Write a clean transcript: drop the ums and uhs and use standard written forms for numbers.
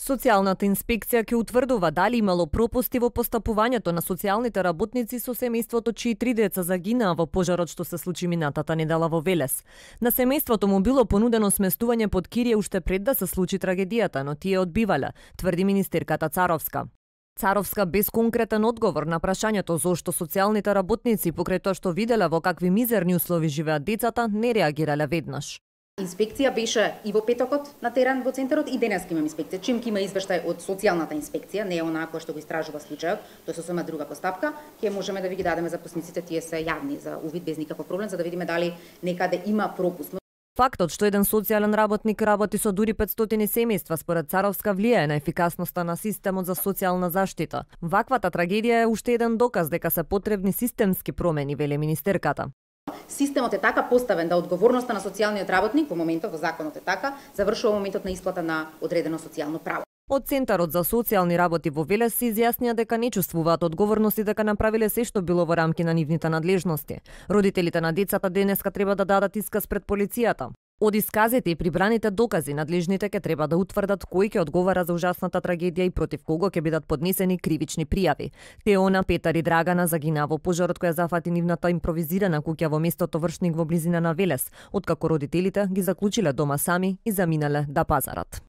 Социјалната инспекција ќе утврдува дали имало пропусти во постапувањето на социјалните работници со семејството чии 3 деца загинаа во пожарот што се случи минатата недела во Велес. На семејството му било понудено сместување под кирие уште пред да се случи трагедијата, но тие одбивале, тврди министерката Царовска. Царовска без конкретен одговор на прашањето зошто социјалните работници покрај тоа што виделе во какви мизерни услови живеат децата, не реагирале веднаш. Инспекција беше и во петокот на терен во центарот и денеска имам инспекција. Чим ќе има извештај од социјалната инспекција, не е онаа која што го истражува случајот, тоа е сосема друга постапка, ќе можеме да ви ги дадеме записниците, тие се јавни за увид без никаков проблем, за да видиме дали некаде има пропуст. Фактот што еден социјален работник работи со дури 500 семејства според Царовска влијае на ефикасноста на системот за социјална заштита. Ваквата трагедија е уште еден доказ дека се потребни системски промени, вели министерката. Системот е така поставен да одговорноста на социјалниот работник во моментот во законот е така, завршува моментот на исплата на одредено социјално право. Од Центарот за социјални работи во Велес се изјаснија дека не чувствуваат одговорност и дека направиле се што било во рамки на нивните надлежности. Родителите на децата денеска треба да дадат исказ пред полицијата. Од исказите и прибраните докази, надлежните ќе треба да утврдат кој ќе одговара за ужасната трагедија и против кого ќе бидат поднесени кривични пријави. Теона, Петар и Драгана загинаа во пожарот која зафати нивната импровизирана куќа во местото Вршник во близина на Велес, откако родителите ги заклучиле дома сами и заминале да пазарат.